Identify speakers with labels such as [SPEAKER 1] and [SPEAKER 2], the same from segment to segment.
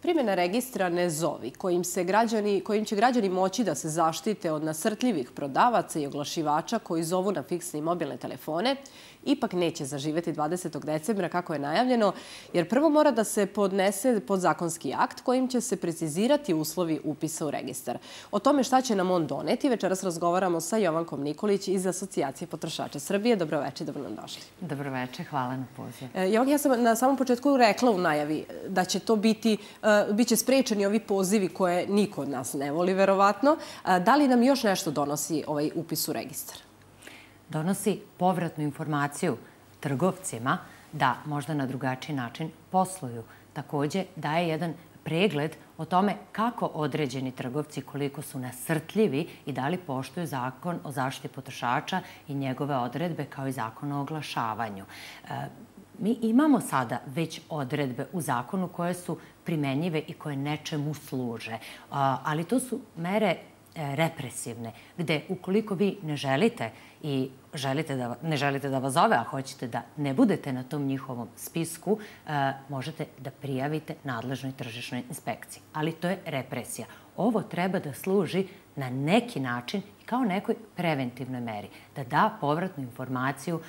[SPEAKER 1] Primjena registra Ne zovi, kojim će građani moći da se zaštite od nasrtljivih prodavaca i oglašivača koji zovu na fiksne i mobilne telefone, ipak neće zaživeti 20. decembra kako je najavljeno, jer prvo mora da se podnese podzakonski akt kojim će se precizirati uslovi upisa u registar. O tome šta će nam on doneti, večeras razgovaramo sa Jovankom Nikolić iz Asocijacije potrošača Srbije. Dobroveče, dobro nam došli.
[SPEAKER 2] Dobroveče, hvala na pozivu.
[SPEAKER 1] Jovanka, ja sam na samom početku rekla u najavi da će to biće sprečeni ovi pozivi koje niko od nas ne voli, verovatno. Da li nam još nešto donosi ovaj upis u registar?
[SPEAKER 2] Donosi povratnu informaciju trgovcima da možda na drugačiji način posluju. Također daje jedan pregled o tome kako određeni trgovci, koliko su nasrtljivi i da li poštuju zakon o zaštiti potrošača i njegove odredbe kao i zakon o oglašavanju. Mi imamo sada već odredbe u zakonu koje su primenjive i koje nečemu služe, ali to su mere represivne, gde ukoliko vi ne želite da vas zove, a hoćete da ne budete na tom njihovom spisku, možete da prijavite nadležnoj tržišnoj inspekciji. Ali to je represija. Ovo treba da služi na neki način kao nekoj preventivnoj meri, da da povratnu informaciju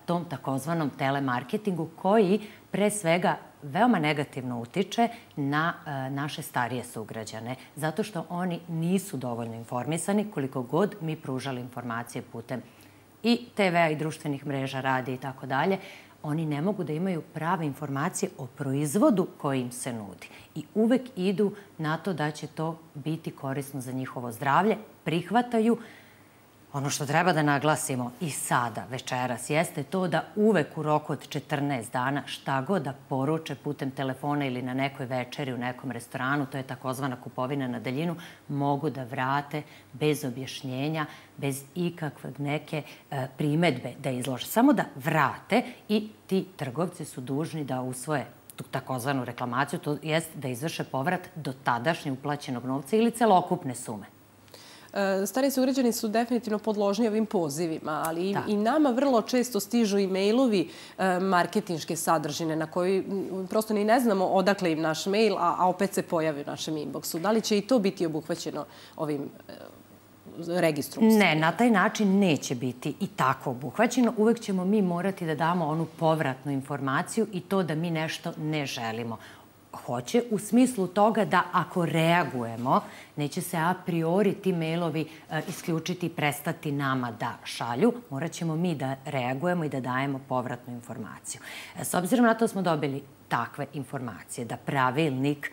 [SPEAKER 2] tom takozvanom telemarketingu koji pre svega veoma negativno utiče na naše starije sugrađane, zato što oni nisu dovoljno informisani koliko god mi pružali informacije putem i TV-a i društvenih mreža, radija i tako dalje. Oni ne mogu da imaju prave informacije o proizvodu koji im se nudi. I uvek idu na to da će to biti korisno za njihovo zdravlje, prihvataju. Ono što treba da naglasimo i sada, večeras, jeste to da uvek u roku od 14 dana šta god da poruče putem telefona ili na nekoj večeri u nekom restoranu, to je takozvana kupovina na daljinu, mogu da vrate bez objašnjenja, bez ikakve neke primedbe da izlože. Samo da vrate i ti trgovci su dužni da usvoje tu takozvanu reklamaciju, to jest da izvrše povrat do tadašnje uplaćenog novca ili celokupne sume.
[SPEAKER 1] Stariji sugrađani su definitivno podložni ovim pozivima, ali i nama vrlo često stižu e-mailovi marketinške sadržine na koji prosto ni ne znamo odakle im naš mail, a opet se pojavi u našem inboxu. Da li će i to biti obuhvaćeno ovim registrom?
[SPEAKER 2] Ne, na taj način neće biti i tako obuhvaćeno. Uvek ćemo mi morati da damo onu povratnu informaciju i to da mi nešto ne želimo. Hoće u smislu toga da ako reagujemo, neće se a priori ti mailovi isključiti i prestati nama da šalju. Morat ćemo mi da reagujemo i da dajemo povratnu informaciju. S obzirom na to smo dobili takve informacije, da pravilnik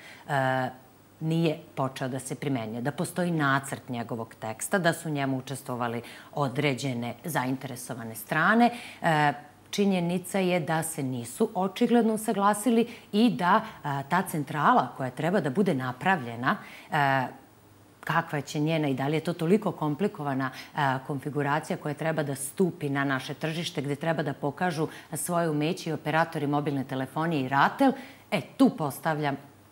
[SPEAKER 2] nije počeo da se primenjuje, da postoji nacrt njegovog teksta, da su u njemu učestvovali određene zainteresovane strane. Činjenica je da se nisu očigledno usaglasili i da ta centrala koja treba da bude napravljena, kakva će njena i da li je to toliko komplikovana konfiguracija koja treba da stupi na naše tržište, gde treba da pokažu svoje umeće i operatori mobilne telefonije i RATEL, tu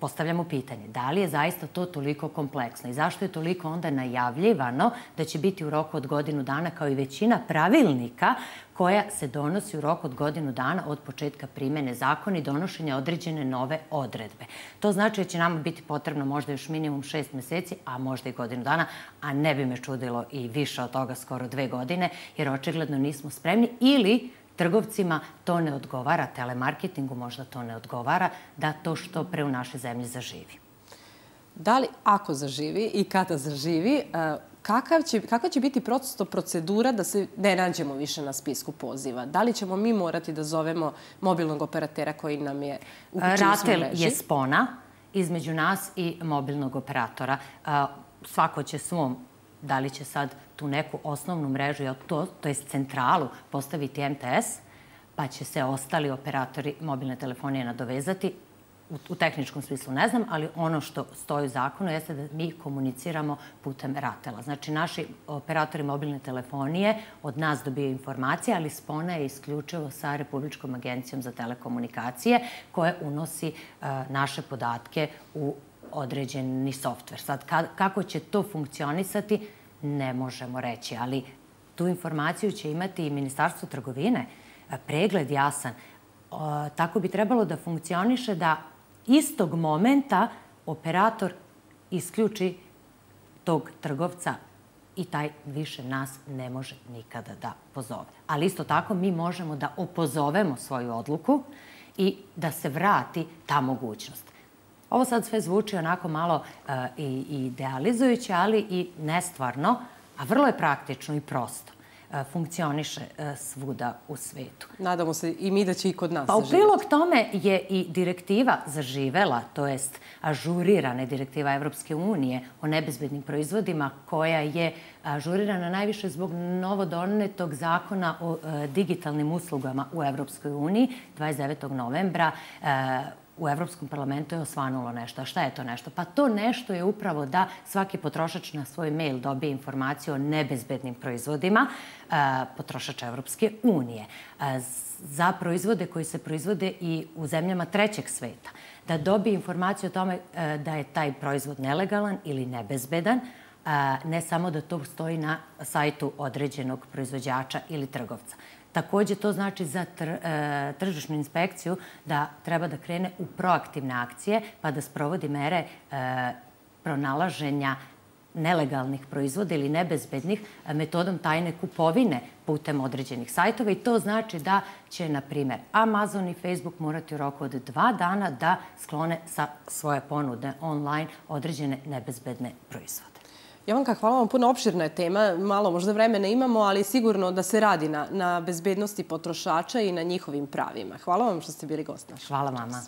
[SPEAKER 2] postavljamo pitanje. Da li je zaista to toliko kompleksno i zašto je toliko onda najavljivano da će biti u roku od godinu dana kao i većina pravilnika koja se donosi u roku od godinu dana od početka primjene zakona i donošenja određene nove odredbe. To znači da će nama biti potrebno možda još minimum 6 meseci, a možda i godinu dana, a ne bi me čudilo i više od toga, skoro 2 godine, jer očigledno nismo spremni ili trgovcima to ne odgovara, telemarketingu možda to ne odgovara, da to što pre u našoj zemlji zaživi.
[SPEAKER 1] Da li, ako zaživi i kada zaživi, kakva će biti procedura da se ne nađemo više na spisku poziva? Da li ćemo mi morati da zovemo mobilnog operatera koji nam je uključen u mreži?
[SPEAKER 2] RATEL je spona između nas i mobilnog operatora. Svako će svom, da li će sad tu neku osnovnu mrežu, to je centralu, postaviti MTS, pa će se ostali operatori mobilne telefonije nadovezati. U tehničkom smislu ne znam, ali ono što stoji u zakonu jeste da mi komuniciramo putem RATEL-a. Znači, naši operatori mobilne telefonije od nas dobiju informacije, ali spona je isključivo sa Republičkom agencijom za telekomunikacije koja unosi naše podatke u određeni softver. Sad, kako će to funkcionisati, ne možemo reći, ali tu informaciju će imati i Ministarstvo trgovine, pregled jasan. Tako bi trebalo da funkcioniše da istog momenta operator isključi tog trgovca i taj više nas ne može nikada da pozove. Ali isto tako mi možemo da opozovemo svoju odluku i da se vrati ta mogućnost. Ovo sad sve zvuči onako malo idealizujuće, ali i nestvarno, a vrlo je praktično i prosto. Funkcioniše svuda u svetu.
[SPEAKER 1] Nadamo se i mi da će i kod nas
[SPEAKER 2] Pa u
[SPEAKER 1] zaživjeti.
[SPEAKER 2] prilog tome je i direktiva zaživela, to jest ažurirana direktiva Evropske unije o nebezbednim proizvodima, koja je ažurirana najviše zbog novodonetog zakona o digitalnim uslugama u Evropskoj uniji 29. novembra. U Evropskom parlamentu je osvanulo nešto. A šta je to nešto? Pa to nešto je upravo da svaki potrošač na svoj mail dobije informaciju o nebezbednim proizvodima potrošača Evropske unije. Za proizvode koji se proizvode i u zemljama trećeg sveta. Da dobije informaciju o tome da je taj proizvod nelegalan ili nebezbedan, ne samo da to stoji na sajtu određenog proizvođača ili trgovca. Takođe, to znači za tržišnu inspekciju da treba da krene u proaktivne akcije pa da sprovodi mere pronalaženja nelegalnih proizvoda ili nebezbednih metodom tajne kupovine putem određenih sajtova i to znači da će, na primjer, Amazon i Facebook morati u roku od 2 dana da sklone sa svoje ponude online određene nebezbedne proizvode.
[SPEAKER 1] Jovanka, hvala vam puno, opširna je tema, malo možda vremena imamo, ali sigurno da se radi na bezbednosti potrošača i na njihovim pravima. Hvala vam što ste bili gost naš.
[SPEAKER 2] Hvala vama.